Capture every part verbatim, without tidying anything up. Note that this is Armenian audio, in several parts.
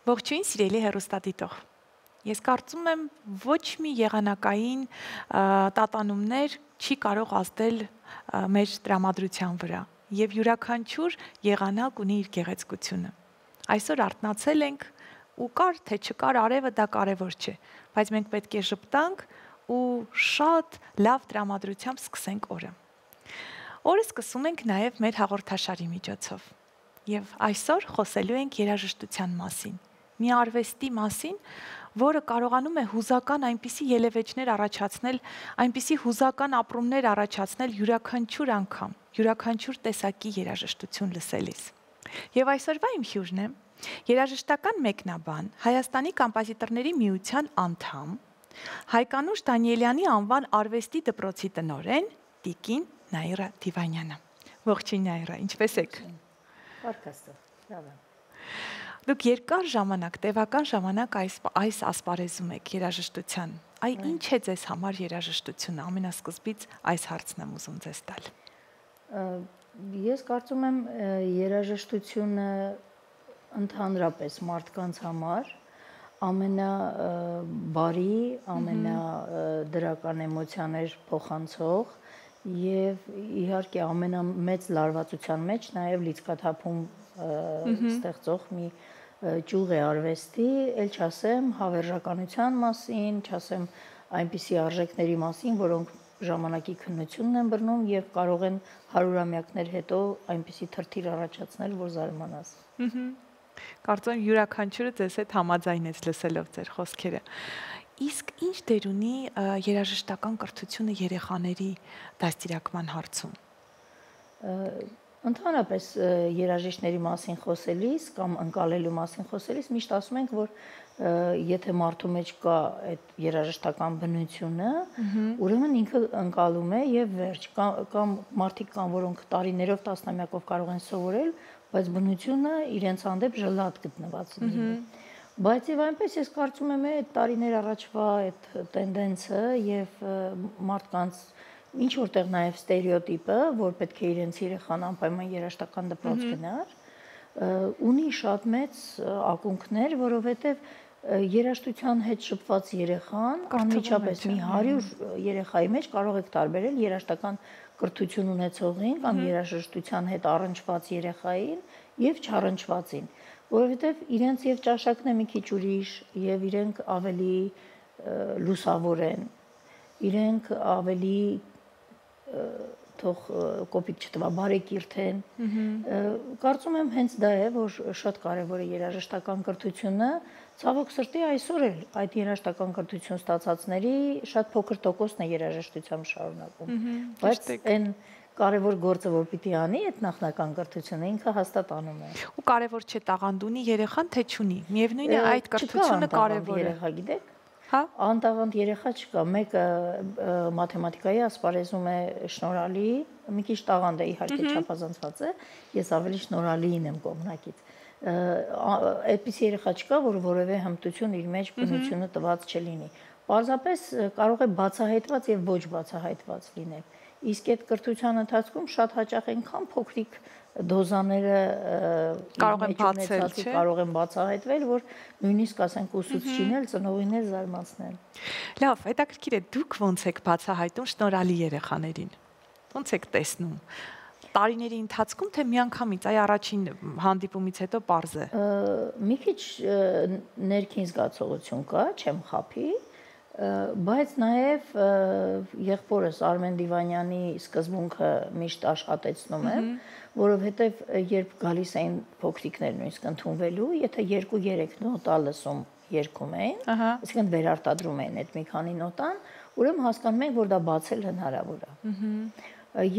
Ողջույն, սիրելի հեռուստադիտող։ Ես կարծում եմ, ոչ մի եղանակային տատանումներ չի կարող ազդել մեր տրամադրության վրա, եւ յուրաքանչյուր եղանակ ունի իր գեղեցկությունը։ Այսօր արթնացել ենք ու կար թե չկար արևը, դա կարևոր չէ, բայց մենք պետք է ժպտանք ու շատ լավ տրամադրությամբ սկսենք օրը։ Օրը սկսում ենք նաև մեր հաղորդաշարի միջոցով։ Եվ այսօր խոսելու ենք երաժշտության մասին։ Մի արվեստի մասին, որը կարողանում է հուզական այնպիսի ելևէջներ առաջացնել, այնպիսի հուզական ապրումներ առաջացնել յուրաքանչյուր անգամ, յուրաքանչյուր տեսակի երաժշտություն լսելիս։ Եվ այսօրվա իմ հյուրն է երաժշտական մեկնաբան, Հայաստանի կոմպոզիտորների միության անդամ, Հայկանուշ Դանիելյանի անվան արվեստի դպրոցի տնօրեն տիկին Նաիրա Դիվանյանը։ Ողջույն Նաիրա, ինչպե՞ս եք։ Բարքաստո, լավ եմ։ Դուք երկար ժամանակ, տևական ժամանակ այս այս ասպարեզում եք երաժշտության։ Այ ինչ է ձեզ համար երաժշտությունը, ամենասկզբից այս հարցն եմ ուզում ձեզ տալ։ Ես կարծում եմ երաժշտությունը ընդհանրապես մարդկանց համար ամենաբարի, ամենադրական էմոցիաներ փոխանցող եւ իհարկե ամենամեծ լարվածության մեջ նաեւ լիցքաթափում ստեղծող մի ճյուղ է արվեստի, ել չասեմ հավերժականության մասին, չասեմ այնպիսի արժեքների մասին, որոնք ժամանակի քննությունն են բռնում եւ կարող են հարյուրամյակներ հետո այնպիսի թրթիր առաջացնել, որ զարմանաս։ Կարծում եմ յուրաքանչյուրը ձեզ հետ համաձայնեց լսելով ձեր խոսքերը։ Իսկ ինչ դեր ունի երաժշտական կրթությունը երեխաների դաստիարակման հարցում։ Ընդհանրապես երաժիշտների մասին խոսելիս կամ ընկալելու մասին խոսելիս միշտ ասում ենք, որ եթե մարդու մեջ կա այդ երաժշտական բնությունը, ուրեմն ինքը ընկալում է եւ վերջ, կամ մարդիկ կան, որոնք տարիներով, տասնամյակով կարող են սովորել, բայց բնությունը իրենց հանդեպ ժլատ գտնված լինի։ Բայց եւ այնպես ես կարծում եմ այդ տարիներ առաջվա այդ տենդենսը եւ մարդկանց ինչ որտեղ նաև ստերեոտիպը, որ պետք է իրենց երեխան անպայման երաժշտական դպրոց գնար, ունի շատ մեծ ակունքներ, որովհետև երաժշտության հետ շփված երեխան անմիջապես մի հարյուր երեխայի մեջ կարող եք տարբերել երաժշտական կրթություն ունեցողին կամ երաժշտության հետ առնչված երեխային եւ չառնչվածին, որովհետև իրենց եւ ճաշակն է մի քիչ ուրիշ եւ իրենք ավելի լուսավոր են, իրենք ավելի թող կոպիտ չտվա, բարեկիրթ են։ Կարծում եմ հենց դա է, որ շատ կարևոր է երաժշտական կրթությունը, ցավոք սրտի այսօր էլ այդ երաժշտական կրթություն ստացածների շատ փոքր տոկոսն է երաժշտությամբ շարունակում, բայց այն կարևոր գործը, որ պիտի անի այդ նախնական կրթությունը, ինքը հաստատ անում է։ Ու կարևոր չէ տաղանդ ունի երեխան, թե չունի։ Միևնույն է այդ կրթությունը կարևոր է։ Երեխա գիտեք։ Հա, անտաղանդ երեխա չկա, մեկը մաթեմատիկայի ասպարեզում է շնորհալի, մի քիչ տաղանդ է իհարկե չափազանցված է, ես ավելի շնորհալիին եմ կողմնակից։ Այդպիսի երեխա չկա, որ որևէ հմտություն իր մեջ բնությունը տված չլինի։ Պարզապես կարող է բացահայտված եւ ոչ բացահայտված լինել։ Իսկ այդ կրթության ընթացքում շատ հաճախ այնքան փոքրիկ դոզաները կարող են բացել, չէ՞, կարող են բացահայտվել, որ նույնիսկ ասենք ուսուցչին էլ ծնողին էլ զարմացնեն։ Լավ, հետաքրքիր է, դուք ոնց եք բացահայտում շնորհալի երեխաներին։ Ոնց եք տեսնում։ Տարիների ընթացքում թե միանգամից, այ առաջին հանդիպումից հետո պարզ է։ Մի քիչ ներքին զգացողություն կա, չեմ խափի, բայց նաև եղբորս Արմեն Դիվանյանի սկզբունքը միշտ աշխատեցնում եմ, որովհետև երբ գալիս էին փոքրիկներ նույնիսկ ընդունվելու, եթե երկու-երեք նոտա լսում երգում էին, այսինքն վերարտադրում էին այդ մի քանի նոտան, ուրեմն հասկանում ենք, որ դա բացել հնարավոր է։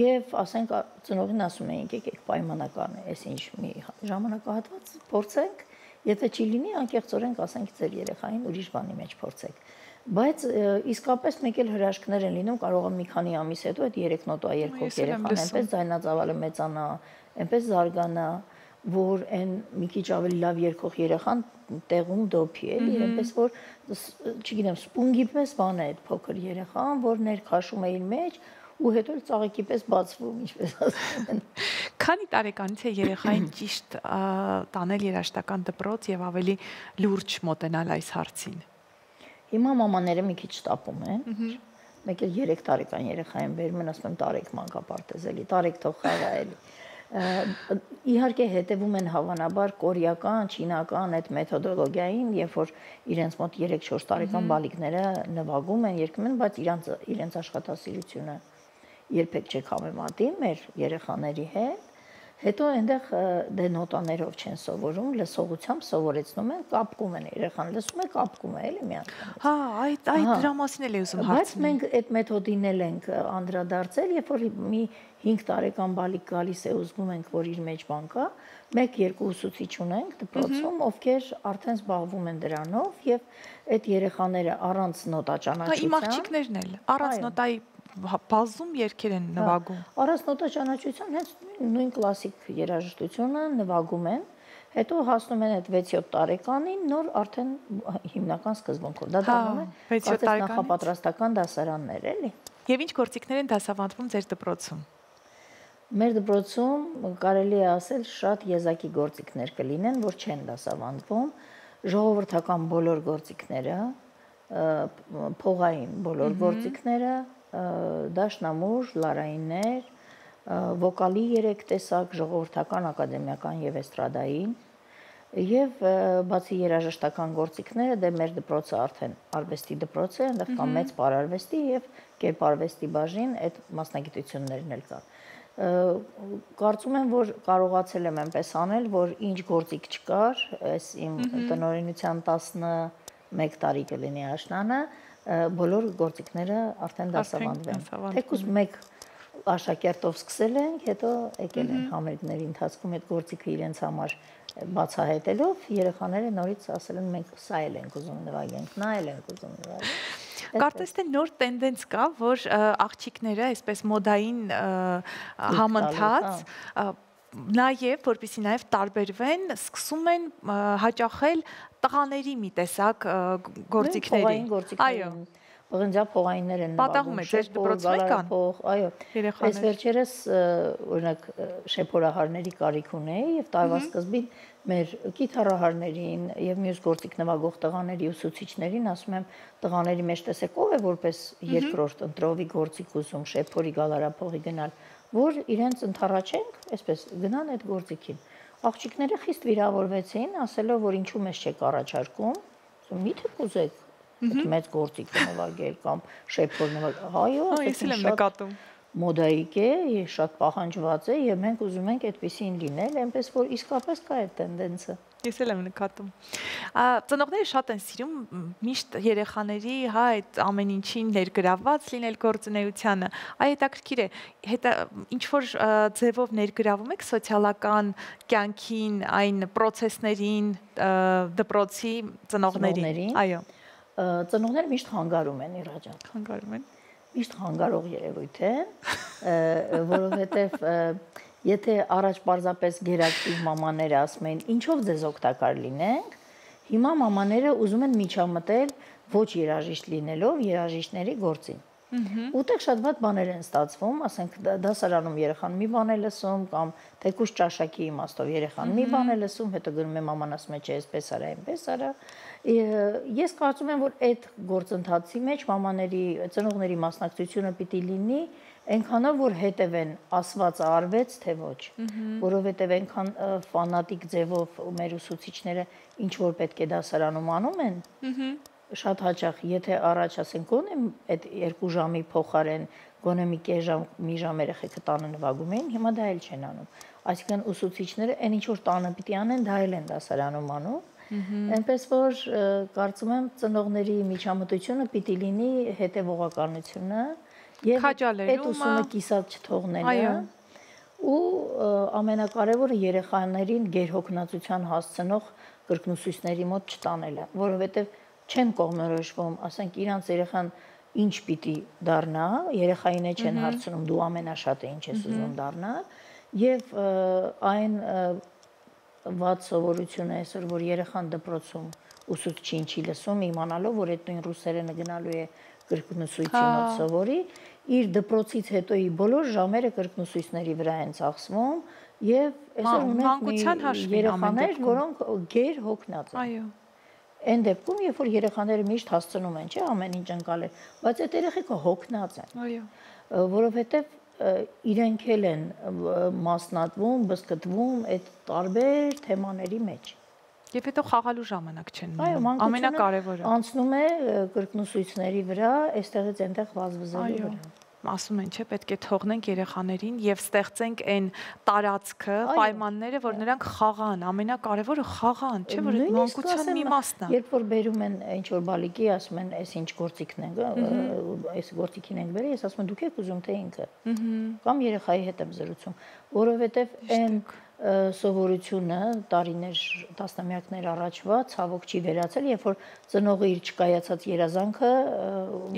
Եվ ասենք ծնողին ասում էինք, եկեք պայմանական է, այս ինչ մի ժամանակահատված փորձենք, եթե չի լինի, անկեղծորեն ասենք ձեր երեխային ուրիշ բանի մեջ փորձեք։ Բայց իսկապես մեկ էլ հրաշքներ են լինում, կարող է մի քանի ամիս հետո այդ երեք նոտա երգող երեխան այնպես ձայնածավալը մեծանա, այնպես զարգանա, որ այն մի քիչ ավելի լավ երգող երեխան տեղում դոփի էլի, այնպես որ չգիտեմ, սպունգի պես բան է այդ փոքր երեխան, որ ներքաշում է իր մեջ ու հետո ծաղիկի պես բացվում, ինչպես ասում են։ Քանի տարեկանից է երեխային ճիշտ տանել երաժշտական դպրոց եւ ավելի լուրջ մոտենալ այս հարցին։ Հիմա մամաները մի քիչ շտապում են։ Մեկ էլ երեք տարեկան երեխային բերում են, ասում եմ Տարեկ մանկապարտեզելի, Տարեկ թող խաղա էլի։ Իհարկե հետևում են հավանաբար կորեական, չինական այդ մեթոդոլոգիային, երբ որ իրենց մոտ երեք-չորս տարեկան բալիկները նվագում են, երգում են, բայց իրենց իրենց աշխատասիրությունը երբեք չեք համեմատի մեր երեխաների հետ։ Հետո այնտեղ դե նոտաներով չեն սովորում, լսողությամբ սովորեցնում են, կապկում են երեխան, լսում է կապկում է էլի միանգամից։ Հա, այդ այդ դրա մասին էլ է ուզում հարցնել։ Բայց մենք այդ մեթոդին էլ ենք անդրադարձել, երբ որ մի հինգ տարեկան բալիկ գալիս է, ուզում ենք, որ իր մեջ բան կա, մեկ-երկու ուսուցիչ ունենք դպրոցում, ովքեր արդեն զբաղվում են դրանով եւ այդ երեխաները առանց նոտա ճանաչության։ Իմ աղջիկներն էլ առանց նոտայի բազում երգեր են նվագում։ Առանց նոտա ճանաչության հենց նույն կլասիկ երաժշտությունը նվագում են, հետո հասնում են այդ վեց-յոթ տարեկանին, նոր արդեն հիմնական սկզբունքով։ Դա դառնում է վեց-յոթ տարեկան նախապատրաստական դասարաններ, էլի։ Եվ ինչ գործիքներ են դասավանդվում ձեր դպրոցում։ Մեր դպրոցում կարելի է ասել շատ եզակի գործիքներ կլինեն, որ չեն դասավանդվում, ժողովրդական բոլոր գործիքները, փողային բոլոր գործիքները, դաշնամուր, լարայիններ, վոկալի երեք տեսակ, ժողովրդական, ակադեմիական եւ էստրադային, եւ բացի երաժշտական գործիքները, դե մեր դպրոցը արդեն արվեստի դպրոց է, այնտեղ կա մեծ պարարվեստի եւ կերպարվեստի բաժին, այդ մասնագիտություններն էլ կա։ Կարծում եմ, որ կարողացել եմ այնպես անել, որ ինչ գործիք չկար, այս իմ տնօրինության տասնմեկ տարի կլինի աշնանը, բոլոր գործիքները արդեն դասավանդվեն։ Թեկուզ մեկ աշակերտով սկսել ենք, հետո եկել են համերգների ընթացքում այդ գործիքը իրենց համար բացահայտելով, երեխաները նորից ասել են մենք սա էլ ենք ուզում նվագենք, նա էլ ենք ուզում նվագենք։ Կարծես թե նոր տենդենց կա, որ աղջիկները այսպես մոդային համընթաց նաև, որպեսզի նաև տարբերվեն, սկսում են հաճախել տղաների մի տեսակ գործիքների։ Այո, Պղնձա փողայիններ են նվագում, ձեր դպրոցում կան։ Այո, այս վերջերս օրինակ շեփորահարների կարիք ունեի եւ տարվա սկզբին մեր գիտարահարներին եւ մյուս գործիք նվագող տղաների ուսուցիչներին ասում եմ տղաների մեջ տեսեք ով է որպես երկրորդ ընտրովի գործիք ուզում շեփորի գալարափողի գնալ, որ իրենց ընթառաջենք, այսպես գնան այդ գործիքին։ Աղջիկները խիստ վիրավորվեցին, ասելով որ ինչու մեզ չեք առաջարկում, միթե կուզեք այդ մեծ գործիք նվագել կամ շեփոր նվագել, այո, ես էլ եմ նկատում։ Մոդայիկ է, շատ պահանջված է եւ մենք ուզում ենք այդպեսին լինել, այնպես որ իսկապես կա այդ տենդենսը։ Ես էլ եմ նկատում։ Ծնողները շատ են սիրում միշտ երեխաների, հա, այդ ամեն ինչին ներգրավված լինել գործունեությանը։ Այ հետաքրքիր է, հետա ինչ որ ձևով ներգրավում եք սոցիալական կյանքին, այն process-ներին, դպրոցի ծնողներին։ Այո։ Ծնողները միշտ հանգարում են իռաջան։ Հանգարում են։ Միշտ հանգարող երևույթ է, որովհետև եթե առաջ պարզապես գերակտիվ մամաները ասում են ինչով ձեզ օգտակար լինենք, հիմա մամաները ուզում են միջամտել ոչ երաժիշտ լինելով երաժիշտների գործին։ Ուտեղ շատ վատ բաներ են ստացվում, ասենք դասարանում երեխան մի բան է լսում կամ թեկուզ ճաշակի իմաստով երեխան մի բան է լսում, հետո գնում է մաման ասում է չէ, այսպես արա, այնպես արա։ Ես կարծում եմ, որ այդ գործընթացի մեջ մամաների, ծնողների մասնակցությունը պիտի լինի այնքանով, որ հետևեն ասվածը արվեց, թե ոչ, որովհետև այնքան ֆանատիկ ձևով մեր ուսուցիչները ինչ որ պետք է դասարանում անում են, շատ հաճախ, եթե առաջ ասենք գոնե այդ երկու ժամի փոխարեն գոնե մի կես ժամ, մի ժամ երեխեքը տանը նվագում էին, հիմա դա էլ չեն անում։ Այսինքն ուսուցիչները այն ինչ որ տանը պիտի անեն, դա էլ են դասարանում անում։ Այնպես որ կարծում եմ ծնողների միջամտությունը պիտի լինի հետևողականությունը եւ այդ ուսումը կիսատ չթողնելը ու ամենակարևորը երեխաներին գերհոգնածության հասցնող կրկնուսույցների մոտ չտանելը, որովհետեւ չեն կողմնորոշվում, ասենք իրանց երեխան ինչ պիտի դառնա, երեխային է չեն հարցնում դու ամենաշատը ինչ ես ուզում դառնալ եւ այն վատ սովորությունը է այսօր, որ երեխան դպրոցում ուսուցչին չի լսում, իմանալով, որ այդ նույն ռուսերենը գնալու է կրկնուսույցի մոտ սովորի, իր դպրոցից հետոյի բոլոր ժամերը կրկնուսույցների վրա են ծախսվում Եվ այսօր մանկության ունենք երեխաներ, որոնք գեր հոգնած են։ Այո։ Այն դեպքում, երբ որ երեխաները միշտ հասցնում են, չէ, ամեն ինչ ընկալել, բայց այդ երեխեքը հոգնած են։ Այո։ Որովհետև իրենք էլ են մասնատվում, բզկտվում այդ տարբեր թեմաների մեջ։ Եվ հետո խաղալու ժամանակ չեն Այո, ունենում, ամենակարևորը։ Անցնում է կրկնուսույցների վրա, այստեղից այնտեղ վազվզելու վրա։ Ասում են, չէ, պետք է թողնենք երեխաներին եւ ստեղծենք այն տարածքը, պայմանները, որ նրանք խաղան, ամենակարևորը խաղան, չէ, որ այդ մանկության մի մասն է։ Երբ որ բերում են ինչ որ բալիկի, ասում են, այս ինչ գործիքն են, այս գործիքին ենք բերել, ես ասում եմ, դուք եք ուզում թե ինքը։ Կամ երեխայի հետ եմ զրուցում, որովհետեւ այն սովորությունը տարիներ, տասնամյակներ առաջվա ցավոք չի վերացել, երբ որ ծնողը իր չկայացած երազանքը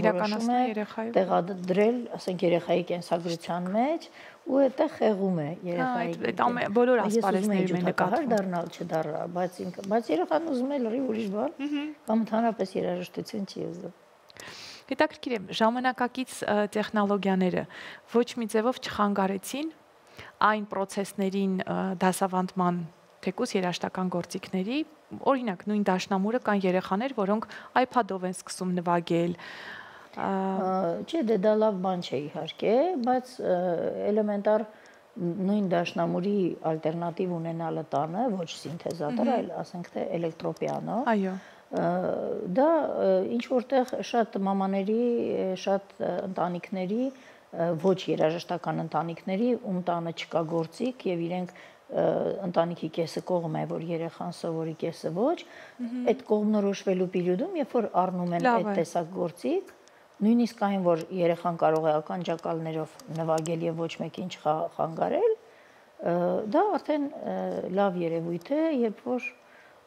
իրականացնում է երեխայի տեղադրել, ասենք երեխայի կենսագրության մեջ ու այդտեղ խեղում է երեխայի։ Այդ բոլոր ասպարեզներում է նկատվում։ Դառնալ չդառնալ, բայց ինքը, բայց երեխան ուզում է լրիվ ուրիշ բան, կամ ընդհանրապես երաժշտություն չի ուզում։ Հետաքրքիր է, ժամանակակից տեխնոլոգիաները ոչ մի ձևով չխանգարեցին այն process-ներին դասավանդման թեկուզ երաժշտական գործիքների, օրինակ նույն դաշնամուրը կան երեխաներ, որոնք iPad-ով են սկսում նվագել։ Չէ, դե դա լավ բան չէ իհարկե, բայց էլեմենտար նույն դաշնամուրի ալտերնատիվ ունենալը տանը, ոչ սինթեզատոր, այլ ասենք թե էլեկտրոպիանո։ Այո։ Դա ինչ որտեղ շատ մամաների, շատ ընտանիքների, ոչ երաժշտական ընտանիքների, ում տանը չկա գործիք եւ իրենք ընտանիքի կեսը կողմ է, որ երեխան սովորի, կեսը ոչ, այդ կողմնորոշվելու պերիոդում, երբ որ առնում են այդ տեսակ գործիք, նույնիսկ այն, որ երեխան կարող է ականջակալներով նվագել եւ ոչ մեկին չխանգարել, դա արդեն լավ երևույթ է, երբ որ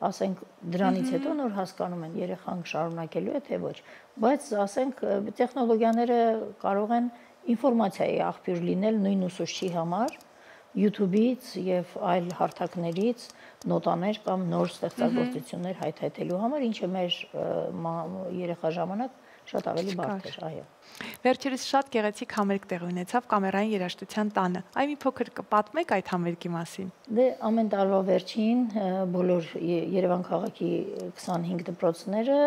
ասենք դրանից հետո նոր հասկանում են երեխան շարունակելու է թե ոչ, բայց ասենք տեխնոլոգիաները կարող են ինֆորմացիայի աղբյուր լինել նույն ուսուցչի համար, YouTube-ից եւ այլ հարթակներից նոտաներ կամ նոր ստեղծագործություններ հայթայթելու համար, ինչը մեր երեխա ժամանակ շատ ավելի բարդ էր, այո։ Վերջերս շատ գեղեցիկ համերգ տեղի ունեցավ Կամերային երաժշտության տանը։ Այ մի փոքր կպատմեք այդ համերգի մասին։ Դե ամեն տարվա վերջին բոլոր Երևան քաղաքի քսանհինգ դպրոցները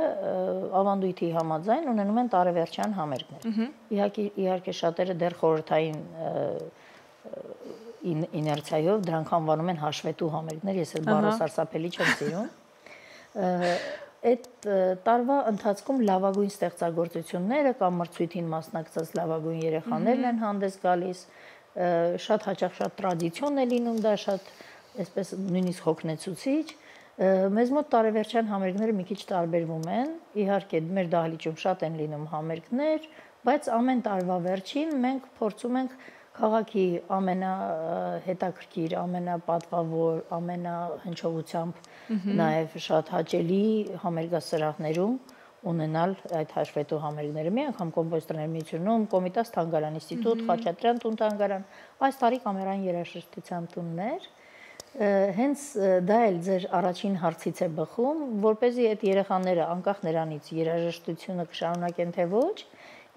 ավանդույթի համաձայն ունենում են տարեվերջյան համերգներ։ Իհարկե, իհարկե շատերը դեռ խորհրդային իներցիայով դրանք անվանում են հաշվետու համերգներ, ես էլ բառը սարսափելի չեմ սիրում։ Այդ տարվա ընթացքում լավագույն ստեղծագործությունները կամ մրցույթին մասնակցած լավագույն երեխաներն են հանդես գալիս, շատ հաճախ շատ տրադիցիոն է լինում դա, շատ այսպես նույնիսկ հոգնեցուցիչ։ Մեզ մոտ տարեվերջյան համերգները մի քիչ տարբերվում են, իհարկե մեր դահլիճում շատ են լինում համերգներ, բայց ամեն տարվա վերջին մենք փորձում ենք քաղաքի ամենահետաքրքիր, ամենապատվավոր, ամենահնչողությամբ նաև շատ հաճելի համերգասրահներում ունենալ այդ հաշվետու համերգները։ Մի անգամ կոմպոզիտորների միությունում, Կոմիտաս թանգարան ինստիտուտ, Խաչատրյան տուն թանգարան, այս տարի Կամերային երաժշտության տուններ։ Հենց դա էլ ձեր առաջին հարցից է բխում, որպեսզի այդ երեխաները անկախ նրանից երաժշտությունը կշարունակեն թե ոչ,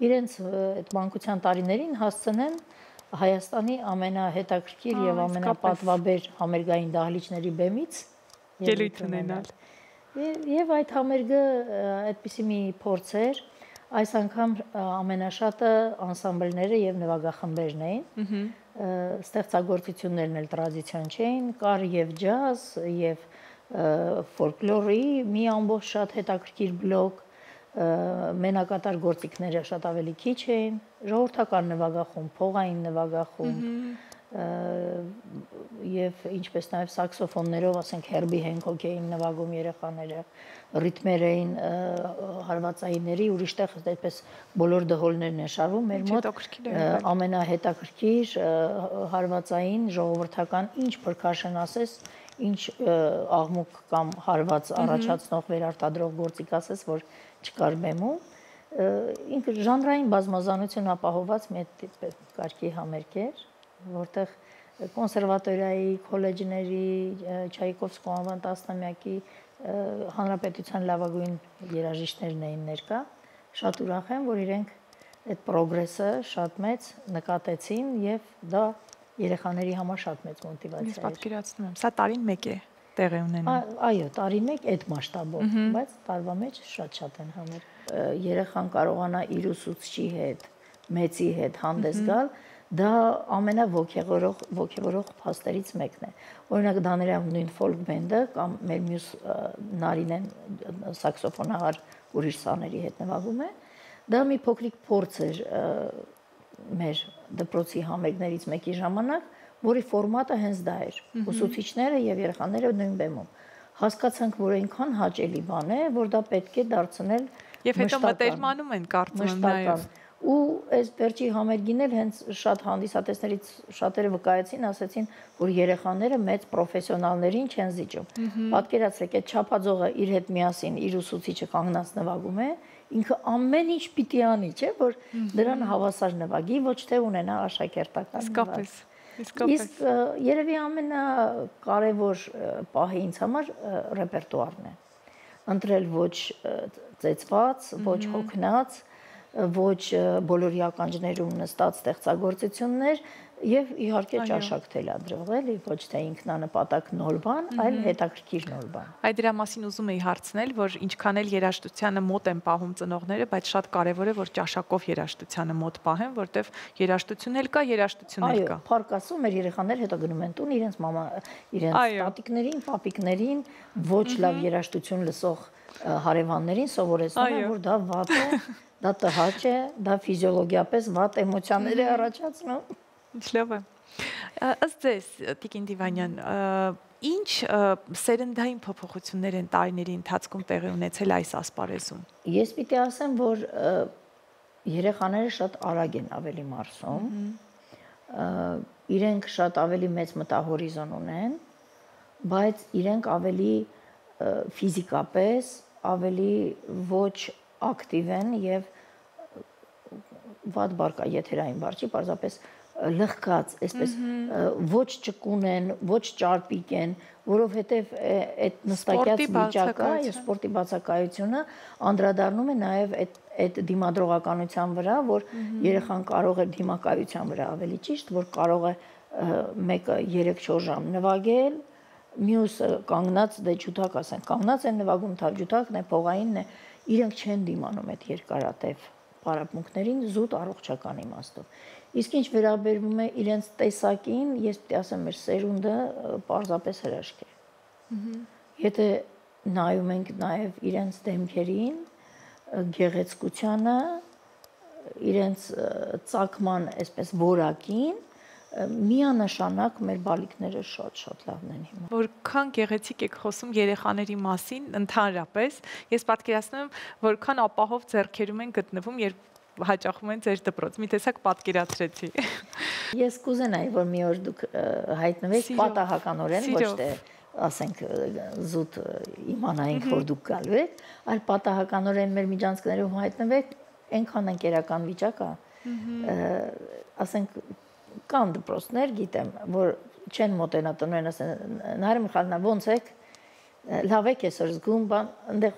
իրենց այդ մանկության տարիներին հասցնեն Հայաստանի ամենահետաքրքիր եւ ամենապատվաբեր համերգային դահլիճների բեմից ելույթ ունենալ։ Եվ այդ համերգը այդպիսի մի փորձ էր, այս անգամ ամենաշատը անսամբլները եւ նվագախմբերն էին։ Ստեղծագործություններն էլ տրադիցիոն չէին, կար եւ ջազ, եւ ֆոլկլորի մի ամբողջ շատ հետաքրքիր բլոկ, մենակատար գործիքները շատ ավելի քիչ էին, ժողովրդական նվագախումբ, փողային նվագախումբ եւ ինչպես նաեւ սաքսոֆոններով, ասենք Հերբի Հենքոք էին նվագում երեխաները, ռիթմեր էին հարվածայինների, ուրիշտեղ այդպես բոլոր դհոլներն են շարվում, մեր մոտ ամենահետաքրքիր հարվածային ժողովրդական ինչ percussion ասես, ինչ աղմուկ կամ հարված առաջացնող վերարտադրող գործիք ասես, որ չկար բեմում, ինքը ժանրային բազմազանություն ապահոված մեծ կարգի համերգ էր, որտեղ կոնսերվատորիայի, քոլեջների, Չայկովսկու անվան տասնամյակի հանրապետության լավագույն երաժիշտներն էին ներկա, շատ ուրախ եմ, որ իրենք այդ պրոգրեսը շատ մեծ նկատեցին եւ դա երեխաների համար շատ մեծ Ես մոտիվացիա է։ պատկերացնում եմ, սա տարին մեկ է տեղի ունենում։ Այո, տարին մեկ այդ մասշտաբով, բայց տարվա մեջ շատ-շատ են համեր։ Երեխան կարողանա իր ուսուցչի հետ, մեծի հետ հանդես գալ, դա ամենաոգևորող ոգևորող փաստերից մեկն է։ Օրինակ Դանիելյան նույն ֆոլք բենդը կամ մեր մյուս Նարինեն սաքսոֆոնահար ուրիշ սաների հետ նվագում է, դա մի փոքրիկ փորձ էր մեր դպրոցի համերգներից մեկի ժամանակ, որի ֆորմատը հենց դա էր։ Ուսուցիչները եւ երեխաները նույն բեմում հասկացանք, որ այնքան հաճելի բան է, որ դա պետք է դարձնել Եվ հետո մտերմանում են կարծում եմ նաեւ։ Ու այս վերջի համերգին էլ հենց շատ հանդիսատեսներից շատերը վկայեցին, ասացին, որ երեխաները մեծ պրոֆեսիոնալներին չեն զիջում։ Պատկերացրեք, այդ չափածողը իր հետ միասին իր ուսուցիչը կանգնած նվագում է, ինքը ամեն ինչ պիտի անի, չէ՞, որ դրան հավասար նվագի, ոչ թե ունենա աշակերտական նվագ։ Իսկ երևի ամենակարևոր պահը ինձ համար ռեպերտուարն է։ Ընտրել ոչ ծեծված, ոչ հոգնած, ոչ բոլորի ականջներում նստած ստեղծագործություններ եւ իհարկե ճաշակ թելադրող, էլի, ոչ թե ինքնանպատակ նոր բան, այլ հետաքրքիր նոր բան։ Այդ դրա մասին ուզում էի հարցնել, որ ինչքան էլ երաժշտությանը մոտ են պահում ծնողները, բայց շատ կարևոր է, որ ճաշակով երաժշտությանը մոտ պահեն, որտեվ երաժշտություն էլ կա, երաժշտություն էլ կա։ Այո, փառք Աստծո, մեր երեխաները հետո գնում են տուն իրենց մամա, իրենց տատիկներին, պապիկներին, ոչ լավ երաժշտություն լսող հարևաններին սովորեցնում են, որ դա վատ է, դա տհաճ է, դա ֆիզիոլոգիապես վատ էմոցիաներ է առաջացնում։ Ինչ լավ է։ Ըստ ձեզ, Տիկին Դիվանյան, ինչ սերնդային փոփոխություններ են տարիների ընթացքում տեղի ունեցել այս ասպարեզում։ Ես պիտի ասեմ, որ երեխաները շատ արագ են ավելի մարսում, իրենք շատ ավելի մեծ մտահորիզոն ունեն, բայց իրենք ավելի ֆիզիկապես ավելի ոչ ակտիվ են եւ վատ բառ կա եթերային բառ չի, պարզապես լղկած, այսպես ոչ ճկուն են, ոչ ճարպիկ են, որովհետեւ այդ նստակյաց վիճակը եւ սպորտի բացակայությունը անդրադառնում է նաեւ այդ այդ դիմադրողականության վրա, որ երեխան կարող է դիմակայության վրա ավելի ճիշտ, որ կարող է մեկը երեք-չորս ժամ նվագել, մյուսը կանգնած դե ջութակ ասենք, կանգնած են նվագում, թավ ջութակն է, փողային է, իրենք չեն դիմանում այդ երկարատև պարապմունքներին զուտ առողջական իմաստով։ Իսկ ինչ վերաբերվում է իրենց տեսակին, ես պիտի ասեմ, մեր սերունդը պարզապես հրաշք է։ Եթե նայում ենք նաև իրենց դեմքերին, գեղեցկությանը, իրենց ծագման այսպես որակին, միանշանակ մեր բալիկները շատ-շատ լավն են հիմա։ Որքան գեղեցիկ եք խոսում երեխաների մասին, ընդհանրապես, ես պատկերացնում եմ, որքան ապահով ձեռքերում են գտնվում, երբ հաճախում են ձեր դպրոց։ Մի տեսակ պատկերացրեցի։ Ես կուզենայի, որ մի օր դուք հայտնվեք պատահականորեն, ոչ թե ասենք զուտ իմանայինք, որ դուք գալու եք, այլ պատահականորեն մեր միջանցքներում հայտնվեք, այնքան ընկերական վիճակ է, ասենք կան դպրոցներ, գիտեմ, որ չեն մոտենա տնօրեն ասեն, Նարին Միխայելովնա, ոնց եք, լավ եք այսօր զգում, բան, այնտեղ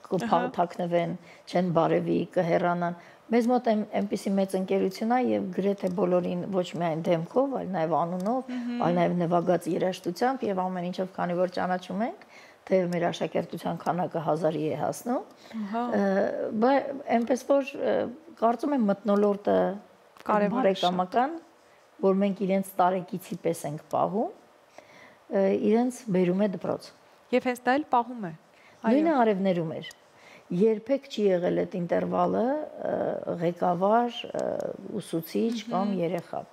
կփաթակնվեն, չեն բարևի, կհեռանան։ Մեզ մոտ այնպիսի մեծ ընկերություն է եւ գրեթե բոլորին ոչ միայն դեմքով, այլ նաեւ անունով, այլ նաեւ նվագած երաժշտությամբ եւ ամեն ինչով, քանի որ ճանաչում ենք, թեև մեր աշակերտության քանակը հազարի է հասնում։ Բայց այնպես որ կարծում եմ մթնոլորտը բարեկամական, որ մենք իրենց տարեկիցի պես ենք պահում, իրենց բերում է դպրոց։ Եվ հենց դա էլ պահում է։ Նույնը արևներում էր։ Երբեք չի եղել այդ ինտերվալը ղեկավար, ուսուցիչ կամ երեխա։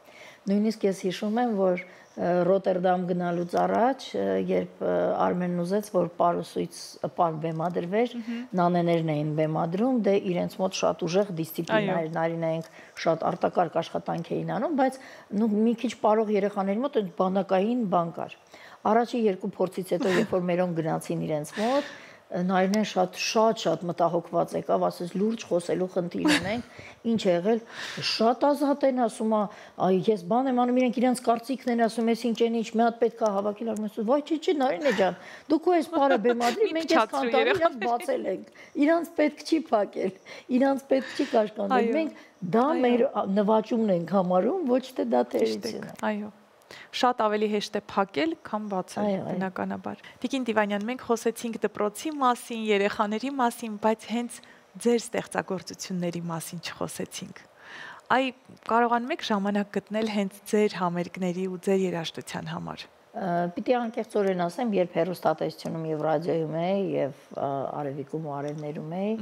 Նույնիսկ ես հիշում եմ, որ Ռոտերդամ գնալուց առաջ, երբ Արմենն ուզեց, որ պարուսույց պար բեմադրվեր, նանեներն էին բեմադրում, դե իրենց մոտ շատ ուժեղ դիսցիպլինա էր, Նարինայինք շատ արտակարգ աշխատանք էին անում, բայց մի քիչ պարող երեխաների մոտ այդ բանակային բան կար։ Առաջի երկու փորձից հետո, երբ որ մերոն գնացին իրենց մոտ, Նայրն շատ շատ շատ մտահոգված եկավ, ասես լուրջ խոսելու խնդիր ունենք, ինչ է եղել, շատ ազատ են ասում, այ ես բան եմ անում, իրենք իրանց կարծիքն են ասում, ես ինչ են ինչ, մի հատ պետք է հավաքել, ասում, վայ չի չի Նարինե ջան, դուք ու այս բարը բեմադրի, մենք այս քանտարը իրանց բացել ենք, իրանց պետք չի փակել, իրանց պետք չի կաշկանդել, մենք դա մեր նվաճումն ենք համարում, ոչ թե դա թերություն է։ Այո։ Շատ ավելի հեշտ է փակել, քան բացել, բնականաբար։ Տիկին Տիվանյան, մենք խոսեցինք դպրոցի մասին, երեխաների մասին, բայց հենց ձեր ստեղծագործությունների մասին չխոսեցինք։ Այ կարողանում եք ժամանակ գտնել հենց ձեր համերգների ու ձեր երաժշտության համար։ Պիտի անկեղծորեն ասեմ, երբ հեռուստատեսությունում եւ ռադիոյում էի եւ արևիկում ու արևներում էի,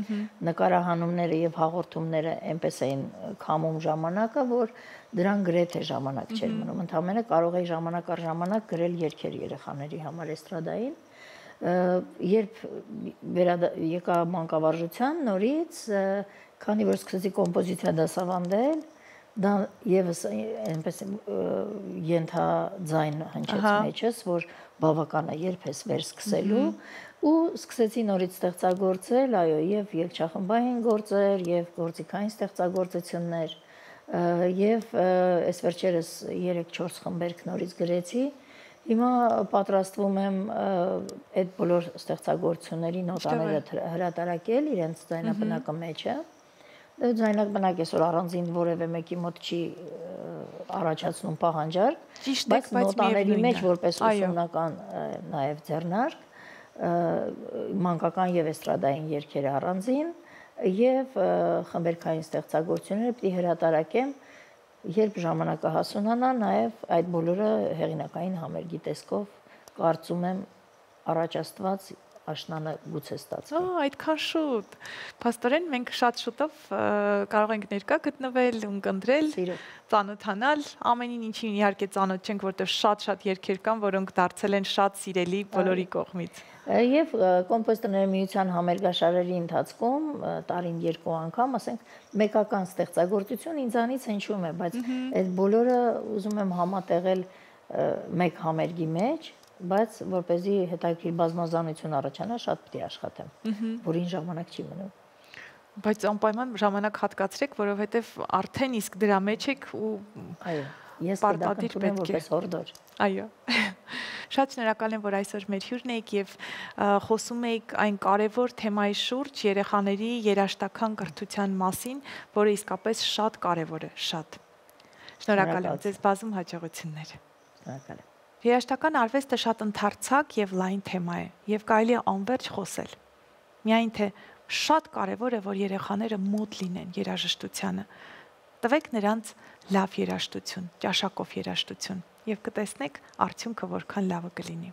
նկարահանումները եւ հաղորդումները այնպես էին քամում ժամանակը, որ դրան գրեթե ժամանակ չէր մնում։ Ընդհանրապես կարող էի ժամանակ առ ժամանակ գրել երգեր երեխաների համար էստրադային։ Երբ եկա մանկավարժության նորից, քանի որ սկսեցի կոմպոզիցիա դասավանդել, դա եւս այնպես ենթաձայն հնչեց մեջս, որ բավական է երբ ես վերսկսելու ու սկսեցի նորից ստեղծագործել, այո, եւ երգչախմբային գործեր, եւ գործիքային ստեղծագործություններ, եւ այս վերջերս երեք-չորս խմբերք նորից գրեցի։ Հիմա պատրաստվում եմ այդ բոլոր ստեղծագործությունների նոտաները հրատարակել իրենց ձայնապնակը մեջը։ Ձայնապնակ այսօր առանձին որևէ մեկի մոտ չի առաջացնում պահանջարկ, բայց նոտաների մեջ որպես ուսումնական նաև ձեռնարկ, մանկական եւ էստրադային երգեր առանձին եւ խմբերքային ստեղծագործությունները պիտի հրատարակեմ, երբ ժամանակը հասունանա, նաև այդ բոլորը հեղինակային համերգի տեսքով կարծում եմ առաջաստված աշնանը գուցե ստացվի։ Ահա, այդքան շուտ։ Փաստորեն մենք շատ շուտով կարող ենք ներկա գտնվել, ունկնդրել, ծանոթանալ, ամենին ինչին իհարկե ծանոթ չենք, որտեղ շատ-շատ երգեր կան, որոնք դարձել են շատ սիրելի բոլորի կողմից։ Եվ կոմպոզիտորների միության համերգաշարերի ընթացքում տարին երկու անգամ, ասենք, մեկական ստեղծագործություն ինձանից հնչում է, բայց այդ բոլորը ուզում եմ համատեղել մեկ համերգի մեջ, բայց որպեսզի հետաքրքիր բազմազանություն առաջանա, շատ պիտի աշխատեմ, որին ժամանակ չի մնում։ Բայց անպայման ժամանակ հատկացրեք, որովհետև արդեն իսկ դրա մեջ եք ու այո, ես դա կընդունեմ որպես հորդոր։ Այո։ Շատ շնորհակալ եմ, որ այսօր մեր հյուրն եք եւ խոսում եք այն կարևոր թեմայի շուրջ երեխաների երաժշտական կրթության մասին, որը իսկապես շատ կարևոր է, շատ։ Շնորհակալ եմ, ձեզ բազում հաջողություններ։ Շնորհակալ եմ։ Երաժշտական արվեստը շատ ընդարձակ եւ լայն թեմա է եւ կարելի է անվերջ խոսել։ Միայն թե շատ կարևոր է, որ երեխաները մոտ լինեն երաժշտությանը։ Տվեք նրանց լավ երաժշտություն, ճաշակով երաժշտություն եւ կտեսնեք արդյունքը որքան լավը կլինի։